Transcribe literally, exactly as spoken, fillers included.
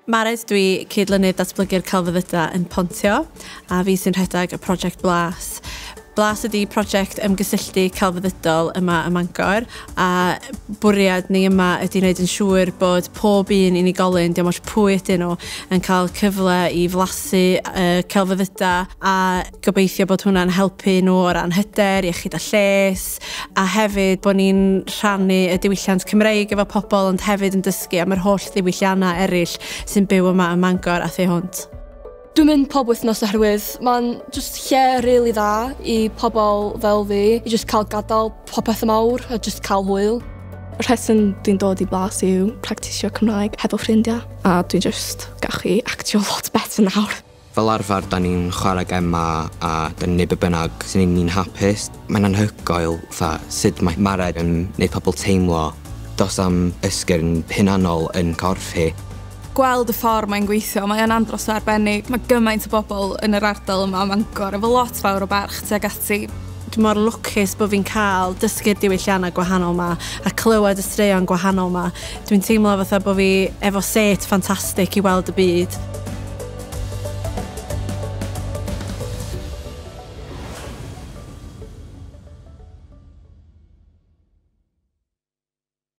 Mared, dwi cydlynydd datblygu'r celfyddydau yn Pontio, a fi sy'n rhedeg y prosiect Blas. Blas ydy prosiect ymgysylltu celfyddydol yma ym Mangor, a bwriad ni yma ydy wneud yn siŵr bod pob un unigolyn, diolch ots pwy ydyn nhw, yn cael cyfle i flasu uh, celfyddydau a gobeithio bod hwnna'n helpu nhw o ran hyder, iechyd a lles, a hefyd bod ni'n rhannu y diwylliant Cymreig efo pobl, ond hefyd yn dysgu am yr holl ddiwylliannau eraill sy'n byw yma ym Mangor a thu hwnt. Dwi'n mynd pob wythnos oherwydd mae'n just lle really dda i pobl fel fi i just cael gadael popeth mawr a just cael hwyl. Y rheswm dwi'n dod i Blas yw practisio Cymraeg hefo ffrindiau, a dwi'n just gallu actio lot better nawr. Fel arfer, da ni'n chwarae gema a da ni'n neud be bynnag sy'n neud ni'n hapus. Mae'n anhygoel fatha sut mae Mared yn neud pobl teimlo dos am ysgyrn hunanol yn corff hi. Gweld y ffordd mae'n gweithio, mae'n andros o arbennig. Mae gymaint o bobl yn yr ardal yma ym Mangor efo lot fawr o barch tuag ati. Dwi mor lwcus bod fi'n cael dysgu'r diwylliannau gwahanol ma a clywed y straeon gwahanol ma. Dwi'n teimlo fatha bod fi efo set ffantastig i weld y byd.